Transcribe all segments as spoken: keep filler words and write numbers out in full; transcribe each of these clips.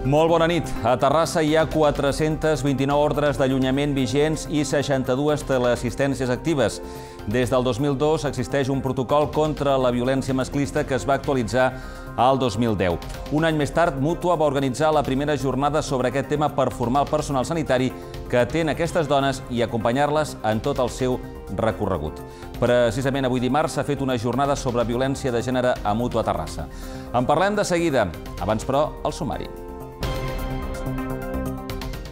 Molt bona nit. A Terrassa hi ha quatre-centes vint-i-nou ordres d'allunyament vigents i seixanta-dues teleassistències actives. Des del dos mil dos existeix un protocol contra la violència masclista que es va actualitzar al dos mil deu. Un any més tard, Mútua va organitzar la primera jornada sobre aquest tema per formar el personal sanitari que atén aquestes dones i acompanyar-les en tot el seu recorregut. Precisament avui dimarts s'ha fet una jornada sobre violència de gènere a Mútua Terrassa. En parlem de seguida. Abans, però, el sumari.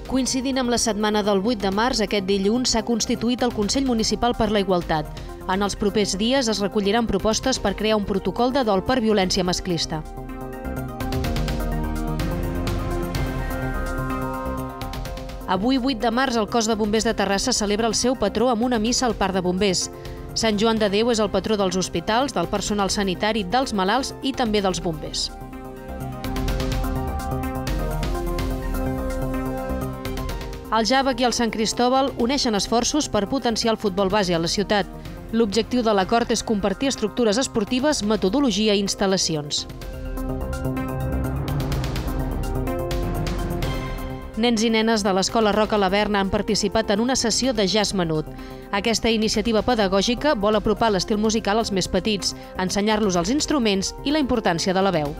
Coincidint amb la setmana del vuit de març, aquest dilluns s'ha constituït el Consell Municipal per la Igualtat. En els propers dies es recolliran propostes per crear un protocol de dol per violència masclista. Avui, vuit de març, el Cos de Bombers de Terrassa celebra el seu patró amb una missa al Parc de Bombers. Sant Joan de Déu és el patró dels hospitals, del personal sanitari, dels malalts i també dels bombers. El Jàvec i el Sant Cristòbal uneixen esforços per potenciar el futbol base a la ciutat. L'objectiu de l'acord és compartir estructures esportives, metodologia i instal·lacions. Nens i nenes de l'Escola Roca Laverna han participat en una sessió de jazz menut. Aquesta iniciativa pedagògica vol apropar l'estil musical als més petits, ensenyar-los els instruments i la importància de la veu.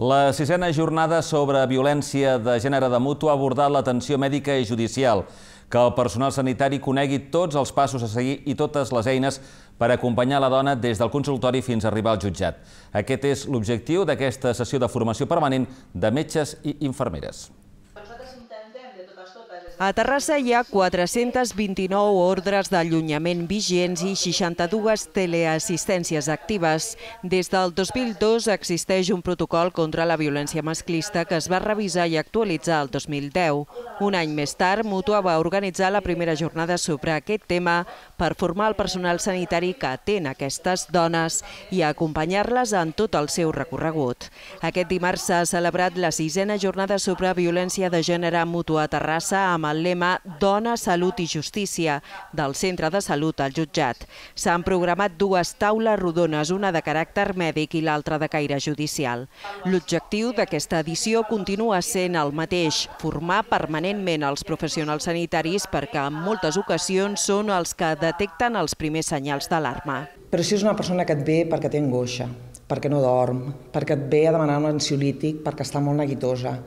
La sisena jornada sobre violència de gènere de Mútua ha abordat l'atenció mèdica i judicial, que el personal sanitari conegui tots els passos a seguir i totes les eines per acompanyar la dona des del consultori fins a arribar al jutjat. Aquest és l'objectiu d'aquesta sessió de formació permanent de metges i infermeres. A Terrassa hi ha quatre-centes vint-i-nou ordres d'allunyament vigents i seixanta-dues teleassistències actives. Des del dos mil dos existeix un protocol contra la violència masclista que es va revisar i actualitzar el dos mil deu. Un any més tard, Mútua va organitzar la primera jornada sobre aquest tema per formar el personal sanitari que atén aquestes dones i acompanyar-les en tot el seu recorregut. Aquest dimarts s'ha celebrat la sisena jornada sobre violència de gènere a Mútua Terrassa amb el lema Dona, Salut i Justícia del Centre de Salut al Jutjat. S'han programat dues taules rodones, una de caràcter mèdic i l'altra de caire judicial. L'objectiu d'aquesta edició continua sent el mateix, formar permanentment els professionals sanitaris perquè en moltes ocasions són els que detecten els primers senyals d'alarma. Però si és una persona que et ve perquè té angoixa, perquè no dorm, perquè et ve a demanar un ansiolític perquè està molt neguitosa,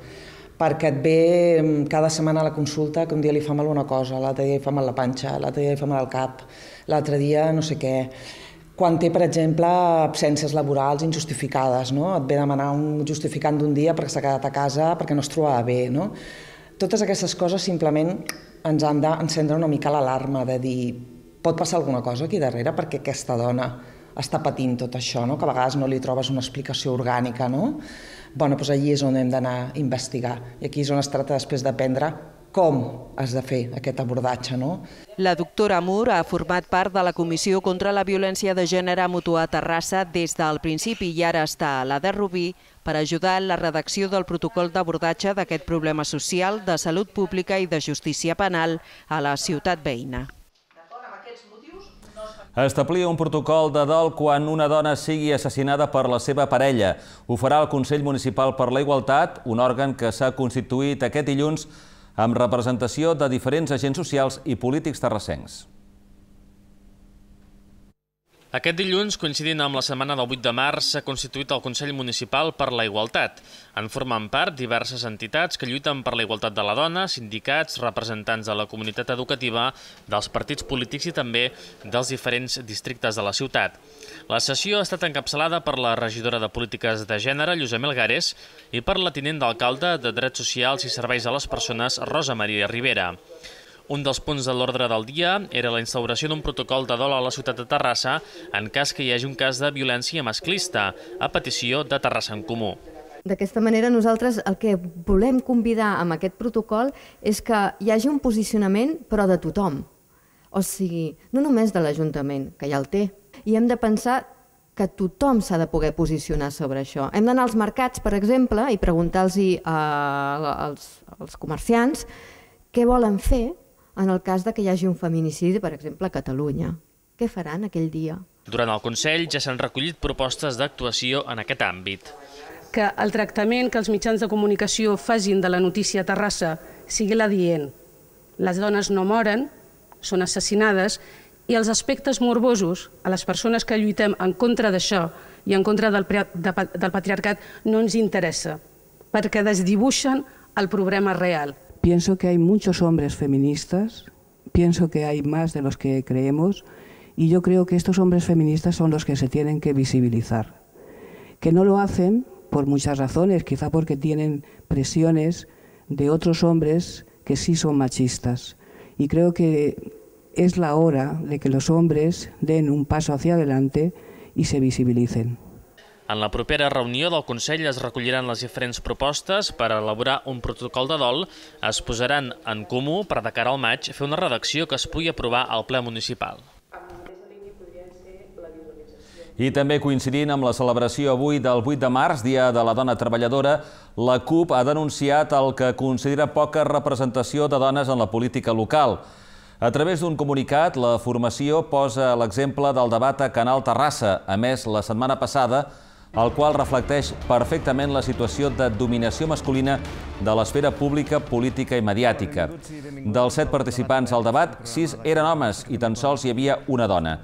perquè et ve cada setmana a la consulta que un dia li fa mal una cosa, l'altre dia li fa mal la panxa, l'altre dia li fa mal el cap, l'altre dia no sé què. Quan té, per exemple, absències laborals injustificades, no? Et ve a demanar un justificant d'un dia perquè s'ha quedat a casa perquè no es trobava bé, no? Totes aquestes coses simplement ens han d'encendre una mica l'alarma de dir pot passar alguna cosa aquí darrere perquè aquesta dona està patint tot això, no? Que a vegades no li trobes una explicació orgànica, no? Bueno, doncs allí és on hem d'anar a investigar i aquí és on es tracta després d'aprendre com has de fer aquest abordatge, no? La doctora Mur ha format part de la Comissió contra la Violència de Gènere a Mútua Terrassa des del principi i ara està a la de Rubí per ajudar en la redacció del protocol d'abordatge d'aquest problema social, de salut pública i de justícia penal a la ciutat veïna. Establir un protocol de dol quan una dona sigui assassinada per la seva parella. Ho farà el Consell Municipal per la Igualtat, un òrgan que s'ha constituït aquest dilluns amb representació de diferents agents socials i polítics terrassencs. Aquest dilluns, coincidint amb la setmana del vuit de març, s'ha constituït el Consell Municipal per la Igualtat. En formen part diverses entitats que lluiten per la igualtat de la dona, sindicats, representants de la comunitat educativa, dels partits polítics i també dels diferents districtes de la ciutat. La sessió ha estat encapçalada per la regidora de Polítiques de Gènere, Lluïsa Melgares, i per la tinent d'alcalde de Drets Socials i Serveis a les Persones, Rosa Maria Rivera. Un dels punts de l'ordre del dia era la instauració d'un protocol de dol a la ciutat de Terrassa en cas que hi hagi un cas de violència masclista, a petició de Terrassa en Comú. D'aquesta manera nosaltres el que volem convidar amb aquest protocol és que hi hagi un posicionament però de tothom. O sigui, no només de l'Ajuntament, que ja el té. I hem de pensar que tothom s'ha de poder posicionar sobre això. Hem d'anar als mercats, per exemple, i preguntar-los als comerciants què volen fer en el cas de que hi hagi un feminicidi, per exemple, a Catalunya. Què faran aquell dia? Durant el Consell ja s'han recollit propostes d'actuació en aquest àmbit. Que el tractament que els mitjans de comunicació facin de la notícia a Terrassa sigui l'adient. Les dones no moren, són assassinades, i els aspectes morbosos a les persones que lluitem en contra d'això i en contra del, del patriarcat no ens interessa, perquè desdibuixen el problema real. Pienso que hay muchos hombres feministas, pienso que hay más de los que creemos, y yo creo que estos hombres feministas son los que se tienen que visibilizar. Que no lo hacen por muchas razones, quizá porque tienen presiones de otros hombres que sí son machistas. Y creo que es la hora de que los hombres den un paso hacia adelante y se visibilicen. En la propera reunió del Consell es recolliran les diferents propostes per elaborar un protocol de dol, es posaran en comú per de cara al maig fer una redacció que es pugui aprovar al ple municipal. I també coincidint amb la celebració avui del vuit de març, Dia de la Dona Treballadora, la CUP ha denunciat el que considera poca representació de dones en la política local. A través d'un comunicat, la formació posa l'exemple del debat a Canal Terrassa, emès la setmana passada, el qual reflecteix perfectament la situació de dominació masculina de l'esfera pública, política i mediàtica. Dels set participants al debat, sis eren homes i tan sols hi havia una dona,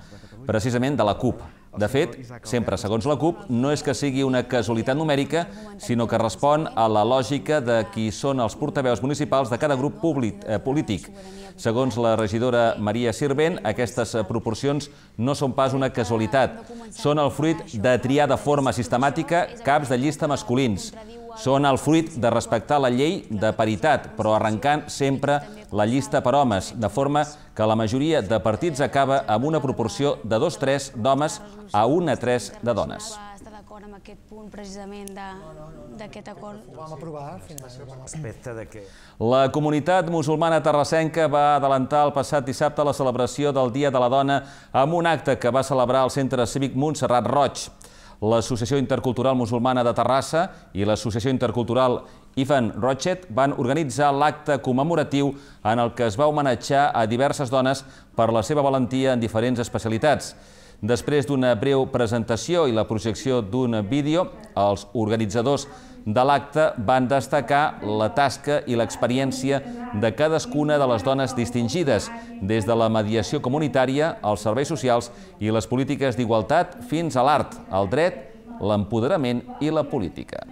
precisament de la CUP. De fet, sempre segons la CUP, no és que sigui una casualitat numèrica, sinó que respon a la lògica de qui són els portaveus municipals de cada grup polític. Segons la regidora Maria Sirvent, aquestes proporcions no són pas una casualitat. Són el fruit de triar de forma sistemàtica caps de llista masculins. Són el fruit de respectar la llei de paritat, però arrencant sempre la llista per homes, de forma que la majoria de partits acaba amb una proporció de dos tres d'homes a un a tres de dones. Estar d'acord amb aquest punt precisament d'aquest acord. Ho vam aprovar al final. Respecte de què? La comunitat musulmana terrassenca va adelantar el passat dissabte la celebració del Dia de la Dona amb un acte que va celebrar el Centre Cívic Montserrat Roig. L'Associació Intercultural Musulmana de Terrassa i l'Associació Intercultural Ivan Rochet van organitzar l'acte commemoratiu en el que es va homenatjar a diverses dones per la seva valentia en diferents especialitats. Després d'una breu presentació i la projecció d'un vídeo, els organitzadors de l'acte van destacar la tasca i l'experiència de cadascuna de les dones distingides, des de la mediació comunitària, els serveis socials i les polítiques d'igualtat fins a l'art, el dret, l'empoderament i la política.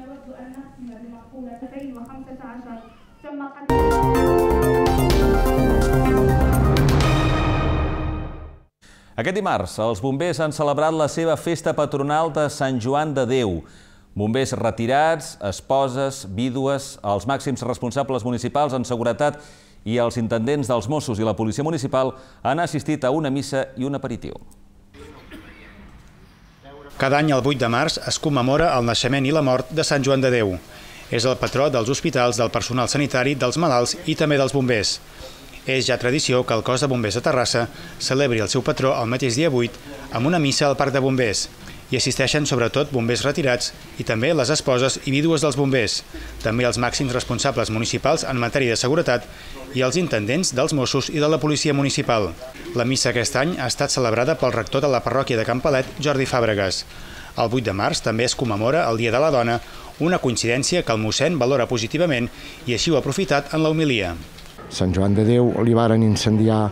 Aquest dimarts, els bombers han celebrat la seva festa patronal de Sant Joan de Déu. Bombers retirats, esposes, vídues, els màxims responsables municipals en seguretat i els intendents dels Mossos i la Policia Municipal han assistit a una missa i un aperitiu. Cada any, el vuit de març, es commemora el naixement i la mort de Sant Joan de Déu. És el patró dels hospitals, del personal sanitari, dels malalts i també dels bombers. És ja tradició que el cos de bombers de Terrassa celebri el seu patró el mateix dia vuit amb una missa al Parc de Bombers. Hi assisteixen sobretot bombers retirats i també les esposes i vídues dels bombers, també els màxims responsables municipals en matèria de seguretat i els intendents dels Mossos i de la Policia Municipal. La missa aquest any ha estat celebrada pel rector de la parròquia de Campalet, Jordi Fàbregas. El vuit de març també es commemora el Dia de la Dona, una coincidència que el mossèn valora positivament i així ho ha aprofitat en la homilia. Sant Joan de Déu li varen incendiar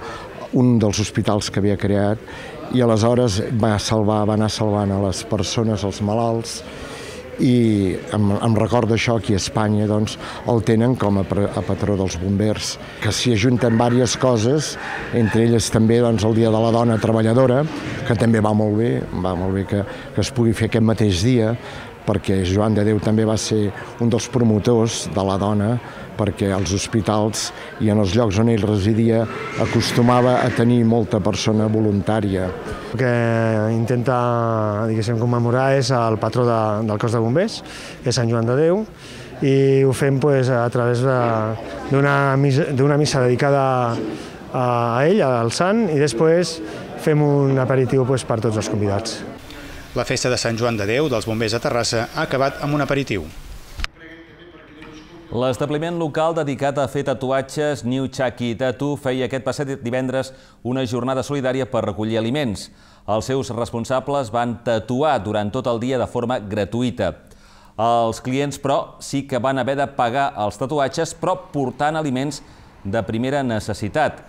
un dels hospitals que havia creat i aleshores va salvar, va anar salvant a les persones, els malalts, i em, em recordo això aquí a Espanya, doncs, el tenen com a, a patró dels bombers, que s'hi ajunten diverses coses, entre elles també doncs, el Dia de la Dona Treballadora, que també va molt bé, va molt bé que, que es pugui fer aquest mateix dia, perquè Joan de Déu també va ser un dels promotors de la dona, perquè als hospitals i en els llocs on ell residia acostumava a tenir molta persona voluntària. El que intenta, diguéssim, commemorar és el patró de, del cos de bombers, que és Sant Joan de Déu, i ho fem pues, a través d'una missa, missa dedicada a ell, al sant, i després fem un aperitiu pues, per tots els convidats. La festa de Sant Joan de Déu dels bombers de Terrassa ha acabat amb un aperitiu. L'establiment local dedicat a fer tatuatges New Chucky Tattoo feia aquest passat divendres una jornada solidària per recollir aliments. Els seus responsables van tatuar durant tot el dia de forma gratuïta. Els clients, però, sí que van haver de pagar els tatuatges, però portant aliments de primera necessitat.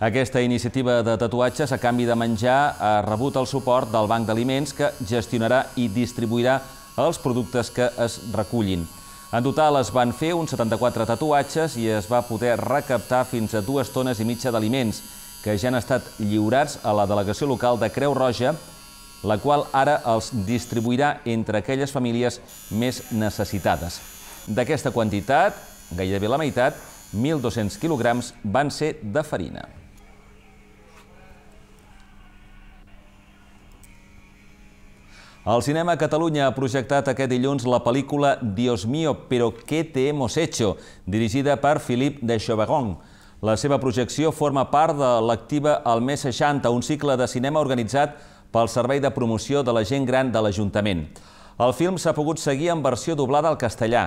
Aquesta iniciativa de tatuatges, a canvi de menjar, ha rebut el suport del Banc d'Aliments, que gestionarà i distribuirà els productes que es recullin. En total es van fer uns setanta-quatre tatuatges i es va poder recaptar fins a dues tones i mitja d'aliments, que ja han estat lliurats a la delegació local de Creu Roja, la qual ara els distribuirà entre aquelles famílies més necessitades. D'aquesta quantitat, gairebé la meitat, mil dos-cents quilograms, van ser de farina. El Cinema Catalunya ha projectat aquest dilluns la pel·lícula Dios mío, pero ¿qué te hemos hecho?, dirigida per Philippe de Chauveron. La seva projecció forma part de l'Activa al mes seixanta, un cicle de cinema organitzat pel Servei de Promoció de la Gent Gran de l'Ajuntament. El film s'ha pogut seguir en versió doblada al castellà.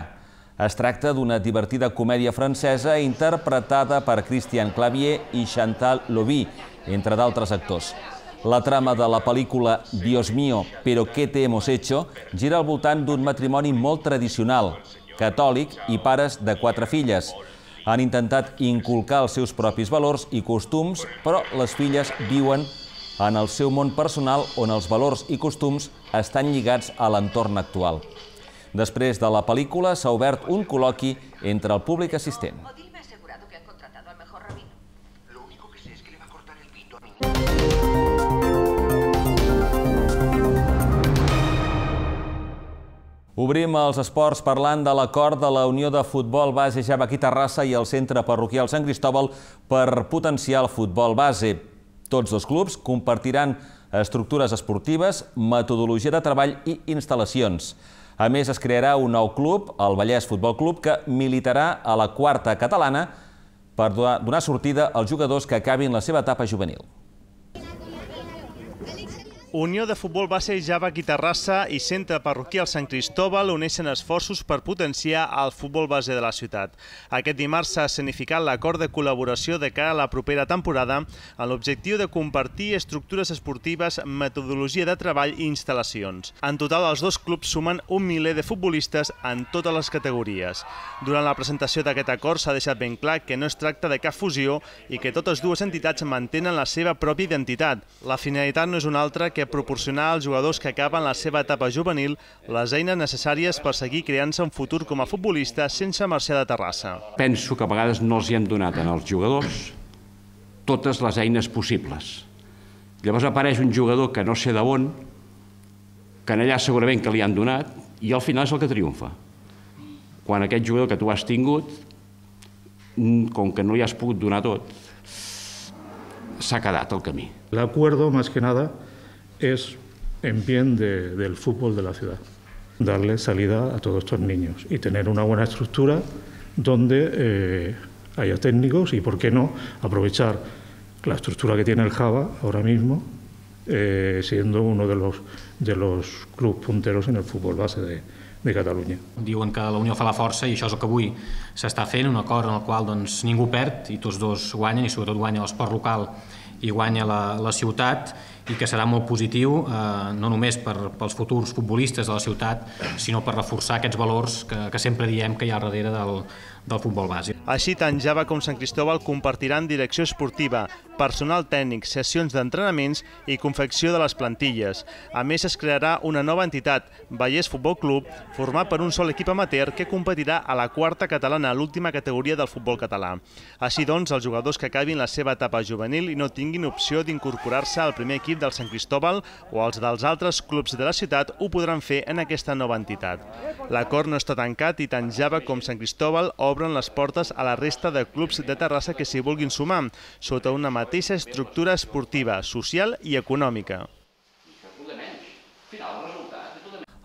Es tracta d'una divertida comèdia francesa interpretada per Christian Clavier i Chantal Lobby, entre d'altres actors. La trama de la pel·lícula Dios mío, pero ¿qué te hemos hecho? Gira al voltant d'un matrimoni molt tradicional, catòlic i pares de quatre filles. Han intentat inculcar els seus propis valors i costums, però les filles viuen en el seu món personal on els valors i costums estan lligats a l'entorn actual. Després de la pel·lícula s'ha obert un col·loqui entre el públic assistent. Obrim els esports parlant de l'acord de la Unió de Futbol Base Javaquí Terrassa i el Centre Parroquial Sant Cristòbal per potenciar el futbol base. Tots dos clubs compartiran estructures esportives, metodologia de treball i instal·lacions. A més, es crearà un nou club, el Vallès Futbol Club, que militarà a la quarta catalana per donar sortida als jugadors que acabin la seva etapa juvenil. Unió de Futbol Base Javaquí Terrassa i Centre Parroquial Sant Cristòbal uneixen esforços per potenciar el futbol base de la ciutat. Aquest dimarts s'ha escenificat l'acord de col·laboració de cara a la propera temporada amb l'objectiu de compartir estructures esportives, metodologia de treball i instal·lacions. En total, els dos clubs sumen un miler de futbolistes en totes les categories. Durant la presentació d'aquest acord s'ha deixat ben clar que no es tracta de cap fusió i que totes dues entitats mantenen la seva pròpia identitat. La finalitat no és una altra que que proporcionar als jugadors que acaben la seva etapa juvenil les eines necessàries per seguir creant-se un futur com a futbolista sense marxar de Terrassa. Penso que a vegades no els hi hem donat als jugadors totes les eines possibles. Llavors apareix un jugador que no sé d'on, que allà segurament que li han donat, i al final és el que triomfa. Quan aquest jugador que tu has tingut, com que no li has pogut donar tot, s'ha quedat al camí. L'acuerdo, más que nada, es en bien de, del fútbol de la ciudad, darle salida a todos estos niños y tener una buena estructura donde eh, haya técnicos y, por qué no, aprovechar la estructura que tiene el Java ahora mismo, eh, siendo uno de los, de los clubs punteros en el fútbol base de, de Catalunya. Diuen que la unió fa la força i això és el que avui s'està fent, un acord en el qual doncs, ningú perd i tots dos guanyen, i sobretot guanya l'esport local i guanya la, la ciutat, i que serà molt positiu, eh, no només per, pels futurs futbolistes de la ciutat, sinó per reforçar aquests valors que, que sempre diem que hi ha darrere del, del futbol base. Així, tant Java com Sant Cristòbal compartiran direcció esportiva, personal tècnic, sessions d'entrenaments i confecció de les plantilles. A més, es crearà una nova entitat, Vallès Futbol Club, format per un sol equip amateur que competirà a la quarta catalana, l'última categoria del futbol català. Així doncs, els jugadors que acabin la seva etapa juvenil i no tinguin opció d'incorporar-se al primer equip del Sant Cristòbal o als dels altres clubs de la ciutat ho podran fer en aquesta nova entitat. L'acord no està tancat i tant Java com Sant Cristòbal obren les portes a la resta de clubs de Terrassa que s'hi vulguin sumar, sota una mateixa estructura esportiva, social i econòmica.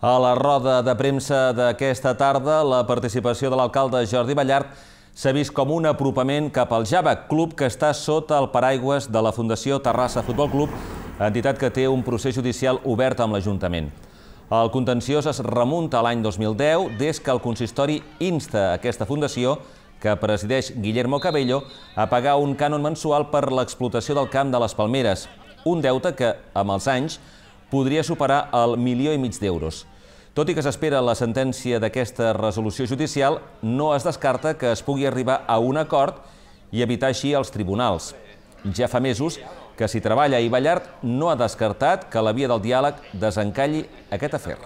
A la roda de premsa d'aquesta tarda, la participació de l'alcalde Jordi Ballart s'ha vist com un apropament cap al Java, club que està sota el paraigües de la Fundació Terrassa Futbol Club, entitat que té un procés judicial obert amb l'Ajuntament. El contenciós es remunta a l'any dos mil deu, des que el consistori insta aquesta fundació, que presideix Guillermo Cabello, a pagar un cànon mensual per l'explotació del camp de les Palmeres, un deute que, amb els anys, podria superar el milió i mig d'euros. Tot i que s'espera la sentència d'aquesta resolució judicial, no es descarta que es pugui arribar a un acord i evitar així els tribunals. Ja fa mesos que s'hi treballa i Ballart no ha descartat que la via del diàleg desencalli aquest afer.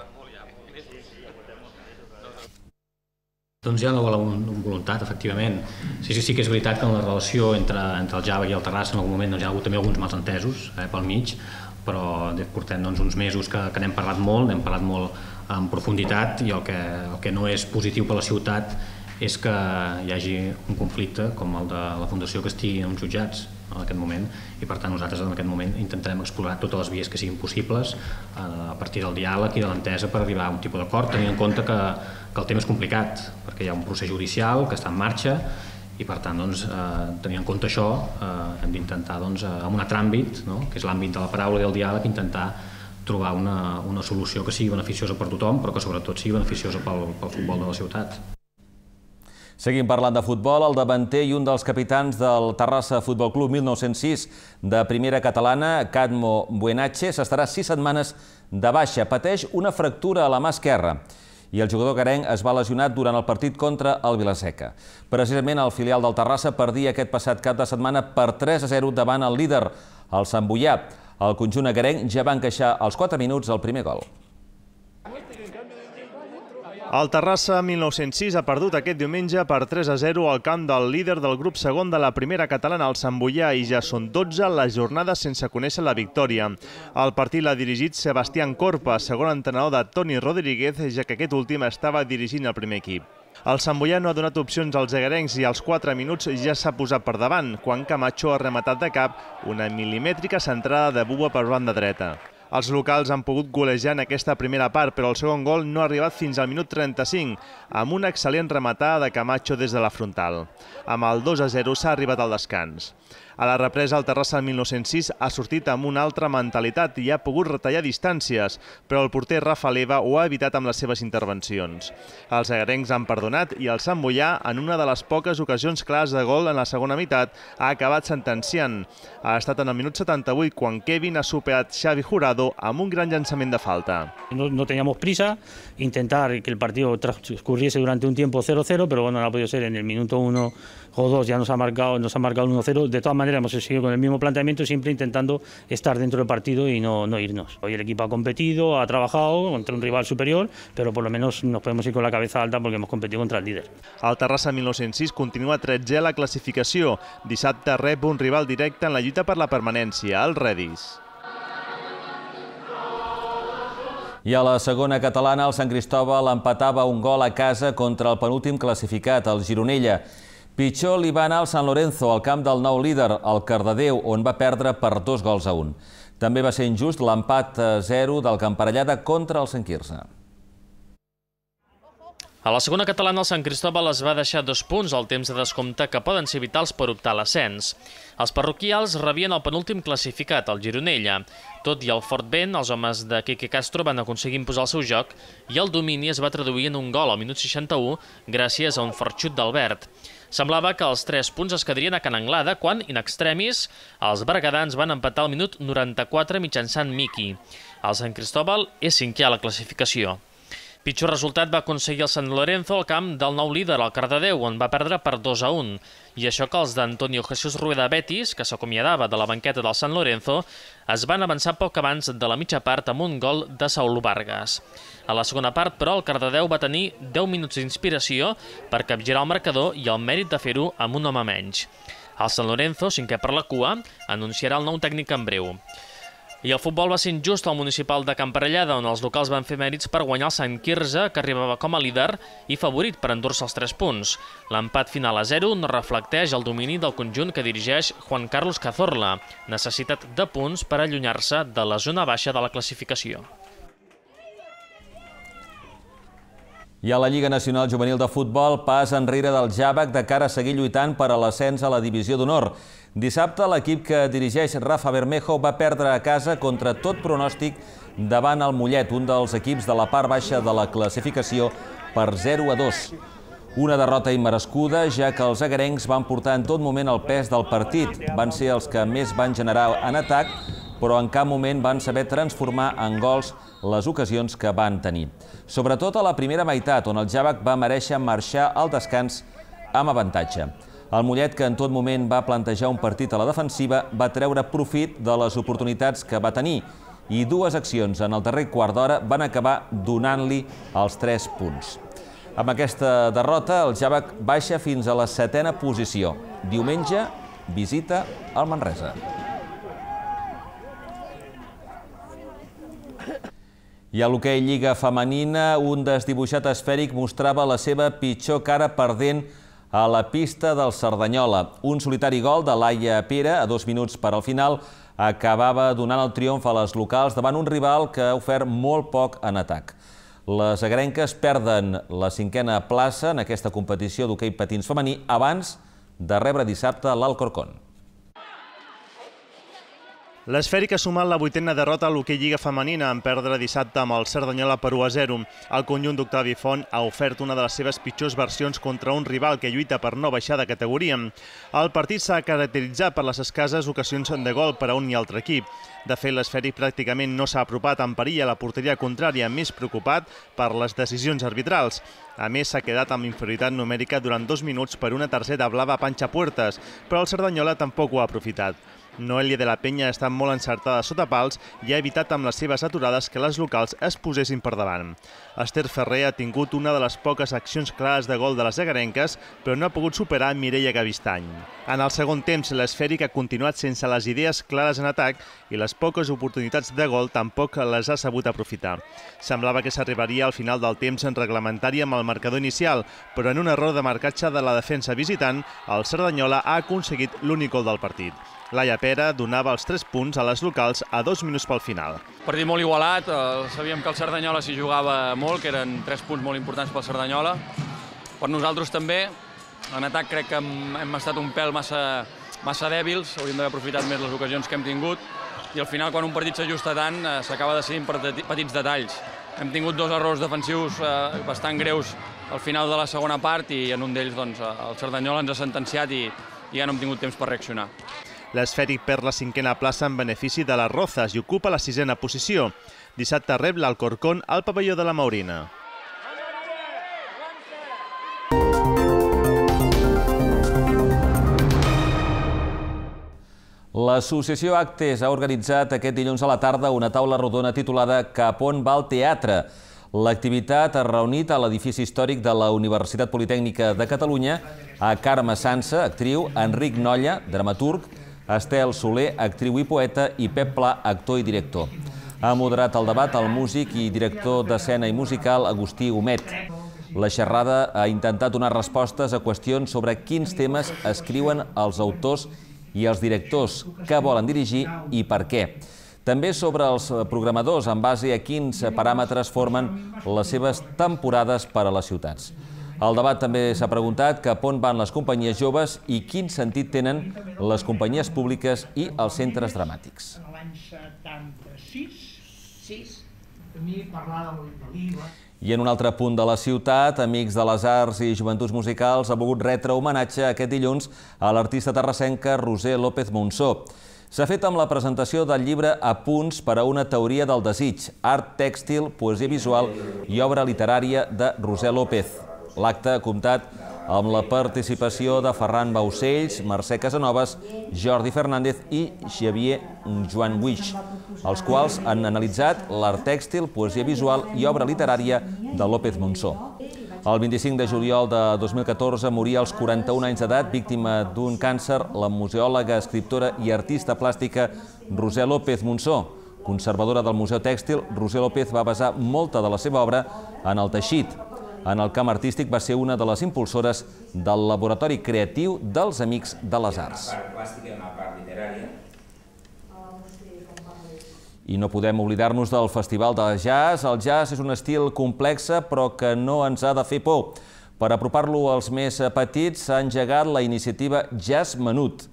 Doncs hi ha una voluntat, efectivament. Sí, sí, sí que és veritat que en la relació entre el Java i el Terrassa en algun moment hi ha hagut també alguns malentesos pel mig, però portem uns mesos que n'hem parlat molt, n'hem parlat molt en profunditat i el que no és positiu per la ciutat és que hi hagi un conflicte com el de la Fundació que estigui en uns jutjats en aquest moment i per tant nosaltres en aquest moment intentarem explorar totes les vies que siguin possibles a partir del diàleg i de l'entesa per arribar a un tipus d'acord, tenint en compte que el tema és complicat perquè hi ha un procés judicial que està en marxa i per tant tenint en compte això hem d'intentar en un altre àmbit, que és l'àmbit de la paraula i del diàleg, intentar trobar una solució que sigui beneficiosa per tothom però que sobretot sigui beneficiosa pel futbol de la ciutat. Seguim parlant de futbol. El davanter i un dels capitans del Terrassa Futbol Club mil nou-cents sis de primera catalana, Cadmo Buenache, s'estarà sis setmanes de baixa. Pateix una fractura a la mà esquerra i el jugador garenc es va lesionar durant el partit contra el Vilaseca. Precisament el filial del Terrassa perdia aquest passat cap de setmana per tres a zero davant el líder, el Sant Boià. El conjunt agarenc ja va encaixar als quatre minuts el primer gol. El Terrassa mil nou-cents sis ha perdut aquest diumenge per tres a zero al camp del líder del grup segon de la primera catalana, el Sant Boià, i ja són dotze les jornades sense conèixer la victòria. El partit l'ha dirigit Sebastián Corpa, segon entrenador de Toni Rodríguez, ja que aquest últim estava dirigint el primer equip. El Sant Boià no ha donat opcions als agarencs i als quatre minuts ja s'ha posat per davant, quan Camacho ha rematat de cap una milimètrica centrada de Buba per banda dreta. Els locals han pogut golejar en aquesta primera part, però el segon gol no ha arribat fins al minut trenta-cinc, amb una excel·lent rematada de Camacho des de la frontal. Amb el dos a zero s'ha arribat al descans. A la represa, el Terrassa mil nou-cents sis ha sortit amb una altra mentalitat i ha pogut retallar distàncies, però el porter Rafa Leva ho ha evitat amb les seves intervencions. Els agarencs han perdonat i el Sant Boià, en una de les poques ocasions clares de gol en la segona meitat, ha acabat sentenciant. Ha estat en el minut setanta-vuit quan Kevin ha superat Xavi Jurado amb un gran llançament de falta. No, no teníamos prisa, intentar que el partido transcurriese durante un tiempo cero cero, pero bueno, no ha podido ser en el minuto uno o dos, ya nos ha marcado, nos ha marcado el uno cero. De todas maneras hemos seguido con el mismo planteamiento, siempre intentando estar dentro del partido y no, no irnos. Hoy el equipo ha competido, ha trabajado contra un rival superior, pero por lo menos nos podemos ir con la cabeza alta porque hemos competido contra el líder. El Terrassa mil nou-cents sis continua tretzè a la classificació. Dissabte rep un rival directe en la lluita per la permanència, el Redis. I a la segona catalana, el Sant Cristòbal empatava un gol a casa contra el penúltim classificat, el Gironella. Pitjor li va anar al Sant Lorenzo, al camp del nou líder, el Cardedeu, on va perdre per dos gols a un. També va ser injust l'empat a zero del Camparellada contra el Sant Quirze. A la segona catalana, el Sant Cristòbal es va deixar dos punts al temps de descompte que poden ser vitals per optar a l'ascens. Els parroquials rebien el penúltim classificat, el Gironella. Tot i el fort vent, els homes de Quique Castro van aconseguir imposar el seu joc i el domini es va traduir en un gol al minut seixanta-u gràcies a un fort xut d'Albert. Semblava que els tres punts es quedarien a Can Anglada quan, in extremis, els bergadans van empatar al minut noranta-quatre mitjançant Miki. El Sant Cristòbal és cinquè a la classificació. Pitjor resultat va aconseguir el Sant Lorenzo al camp del nou líder, el Cardedeu, on va perdre per dos a un. I això que els d'Antonio Jesús Rueda Betis, que s'acomiadava de la banqueta del Sant Lorenzo, es van avançar poc abans de la mitja part amb un gol de Saúl Vargas. A la segona part, però, el Cardedeu va tenir deu minuts d'inspiració per capgirar el marcador i el mèrit de fer-ho amb un home menys. El Sant Lorenzo, cinquè per la cua, anunciarà el nou tècnic en breu. I el futbol va ser injust al municipal de Camparellada, on els locals van fer mèrits per guanyar el Sant Quirze, que arribava com a líder i favorit per endur-se els tres punts. L'empat final a zero no reflecteix el domini del conjunt que dirigeix Juan Carlos Cazorla, necessitat de punts per allunyar-se de la zona baixa de la classificació. I a la Lliga Nacional Juvenil de Futbol, pas enrere del Jàvec de cara a seguir lluitant per a l'ascens a la Divisió d'Honor. Dissabte, l'equip que dirigeix Rafa Bermejo va perdre a casa contra tot pronòstic davant el Mollet, un dels equips de la part baixa de la classificació, per zero a dos. Una derrota immerescuda, ja que els agarencs van portar en tot moment el pes del partit. Van ser els que més van generar en atac, però en cap moment van saber transformar en gols les ocasions que van tenir. Sobretot a la primera meitat, on el Jàvec va mereixer marxar al descans amb avantatge. El Mollet, que en tot moment va plantejar un partit a la defensiva, va treure profit de les oportunitats que va tenir i dues accions en el darrer quart d'hora van acabar donant-li els tres punts. Amb aquesta derrota, el Jàvec baixa fins a la setena posició. Diumenge, visita al Manresa. I a l'hoquei Lliga Femenina, un desdibuixat esfèric mostrava la seva pitjor cara perdent a la pista del Cerdanyola. Un solitari gol de Laia Pere, a dos minuts per al final, acabava donant el triomf a les locals davant un rival que ha ofert molt poc en atac. Les agrenques perden la cinquena plaça en aquesta competició d'hoquei patins femení abans de rebre dissabte l'Alcorcón. L'esfèric ha sumat la vuitena derrota a l'hoquei Lliga Femenina en perdre dissabte amb el Cerdanyola per u a zero. El conjunt d'Octavi Font ha ofert una de les seves pitjors versions contra un rival que lluita per no baixar de categoria. El partit s'ha caracteritzat per les escasses ocasions de gol per a un i altre equip. De fet, l'esfèric pràcticament no s'ha apropat en perill a la porteria contrària, més preocupat per les decisions arbitrals. A més, s'ha quedat amb inferioritat numèrica durant dos minuts per una tercera blava a Panxa Puertas, però el Cerdanyola tampoc ho ha aprofitat. Noelia de la Penya ha estat molt encertada sota pals i ha evitat amb les seves aturades que les locals es posessin per davant. Esther Ferrer ha tingut una de les poques accions clares de gol de les agarenques, però no ha pogut superar Mireia Gavistany. En el segon temps, l'esfèric ha continuat sense les idees clares en atac i les poques oportunitats de gol tampoc les ha sabut aprofitar. Semblava que s'arribaria al final del temps en reglamentari amb el marcador inicial, però en un error de marcatge de la defensa visitant, el Cerdanyola ha aconseguit l'únic gol del partit. Laia Pere donava els tres punts a les locals a dos minuts pel final. Partit molt igualat, sabíem que el Cerdanyola s'hi jugava molt, que eren tres punts molt importants pel Cerdanyola. Per nosaltres també, en atac crec que hem estat un pèl massa, massa dèbils, hauríem d'haver aprofitat més les ocasions que hem tingut, i al final quan un partit s'ajusta tant s'acaba decidint per petits detalls. Hem tingut dos errors defensius bastant greus al final de la segona part i en un d'ells el Cerdanyola ens ha sentenciat i ja no hem tingut temps per reaccionar. L'esfèric perd la cinquena plaça en benefici de les Rozas i ocupa la sisena posició. Dissabte rep l'Alcorcón al pavelló de la Maurina. L'associació Actes ha organitzat aquest dilluns a la tarda una taula rodona titulada Cap on va el teatre? L'activitat ha reunit a l'edifici històric de la Universitat Politècnica de Catalunya a Carme Sansa, actriu, Enric Nolla, dramaturg, Estel Soler, actriu i poeta, i Pep Pla, actor i director. Ha moderat el debat el músic i director d'escena i musical Agustí Humet. La xerrada ha intentat donar respostes a qüestions sobre quins temes escriuen els autors i els directors, què volen dirigir i per què. També sobre els programadors, en base a quins paràmetres formen les seves temporades per a les ciutats. El debat també s'ha preguntat cap on van les companyies joves i quin sentit tenen les companyies públiques i els centres dramàtics. L'any setanta-sis, a mi parlava de l'I V A. I en un altre punt de la ciutat, Amics de les Arts i Joventuts Musicals ha volgut retre homenatge aquest dilluns a l'artista terrassenca Roser López Monsó. S'ha fet amb la presentació del llibre Apunts per a una teoria del desig, art tèxtil, poesia visual i obra literària de Roser López. L'acte ha comptat amb la participació de Ferran Baucells, Mercè Casanovas, Jordi Fernández i Xavier Joan Buix, els quals han analitzat l'art tèxtil, poesia visual i obra literària de López Monsó. El vint-i-cinc de juliol de dos mil catorze moria als quaranta-un anys d'edat, víctima d'un càncer, la museòloga, escriptora i artista plàstica Roser López Monsó. Conservadora del Museu Tèxtil, Roser López va basar molta de la seva obra en el teixit. En el camp artístic va ser una de les impulsores del laboratori creatiu dels Amics de les Arts. I no podem oblidar-nos del Festival de Jazz. El jazz és un estil complex, però que no ens ha de fer por. Per apropar-lo als més petits, s'ha engegat la iniciativa Jazz Menut.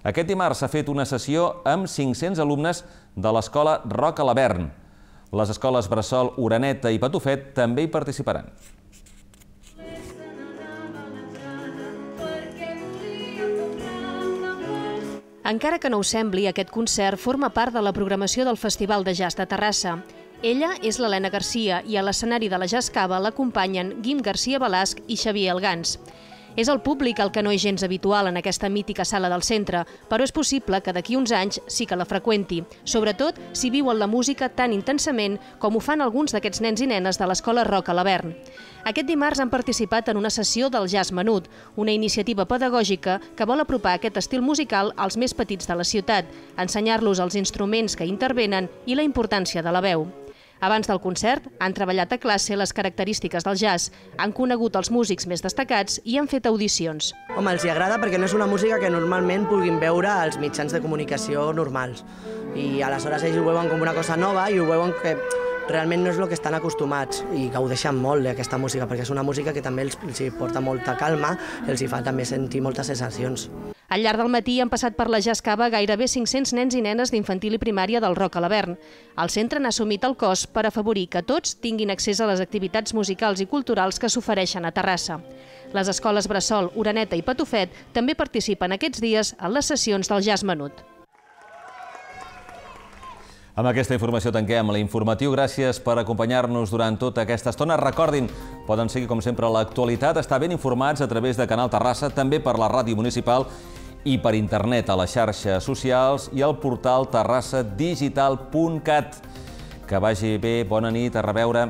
Aquest dimarts s'ha fet una sessió amb cinc-cents alumnes de l'escola Roca Lavern. Les escoles Bressol, Oreneta i Patufet també hi participaran. Encara que no ho sembli, aquest concert forma part de la programació del Festival de Jazz de Terrassa. Ella és l'Helena Garcia i a l'escenari de la Jazz Cava l'acompanyen Guim Garcia Balasc i Xavier Elgans. És el públic el que no és gens habitual en aquesta mítica sala del centre, però és possible que d'aquí uns anys sí que la freqüenti, sobretot si viuen la música tan intensament com ho fan alguns d'aquests nens i nenes de l'escola Roca Lavern. Aquest dimarts han participat en una sessió del Jazz Menut, una iniciativa pedagògica que vol apropar aquest estil musical als més petits de la ciutat, ensenyar-los els instruments que intervenen i la importància de la veu. Abans del concert, han treballat a classe les característiques del jazz, han conegut els músics més destacats i han fet audicions. Home, els hi agrada perquè no és una música que normalment puguin veure als mitjans de comunicació normals. I aleshores ells ho veuen com una cosa nova i ho veuen que realment no és el que estan acostumats i gaudeixen molt d'aquesta música perquè és una música que també els porta molta calma i els fa també sentir moltes sensacions. Al llarg del matí han passat per la Jazz Cava gairebé cinc-cents nens i nenes d'infantil i primària del Roca Lavern. El centre n'ha assumit el cost per afavorir que tots tinguin accés a les activitats musicals i culturals que s'ofereixen a Terrassa. Les escoles Bressol, Oreneta i Patufet també participen aquests dies en les sessions del Jazz Menut. Amb aquesta informació tanquem l'informatiu. Gràcies per acompanyar-nos durant tota aquesta estona. Recordin, poden seguir com sempre l'actualitat, estar ben informats a través de Canal Terrassa, també per la ràdio municipal i per internet a les xarxes socials i al portal terrassa digital punt cat. Que vagi bé, bona nit, a reveure.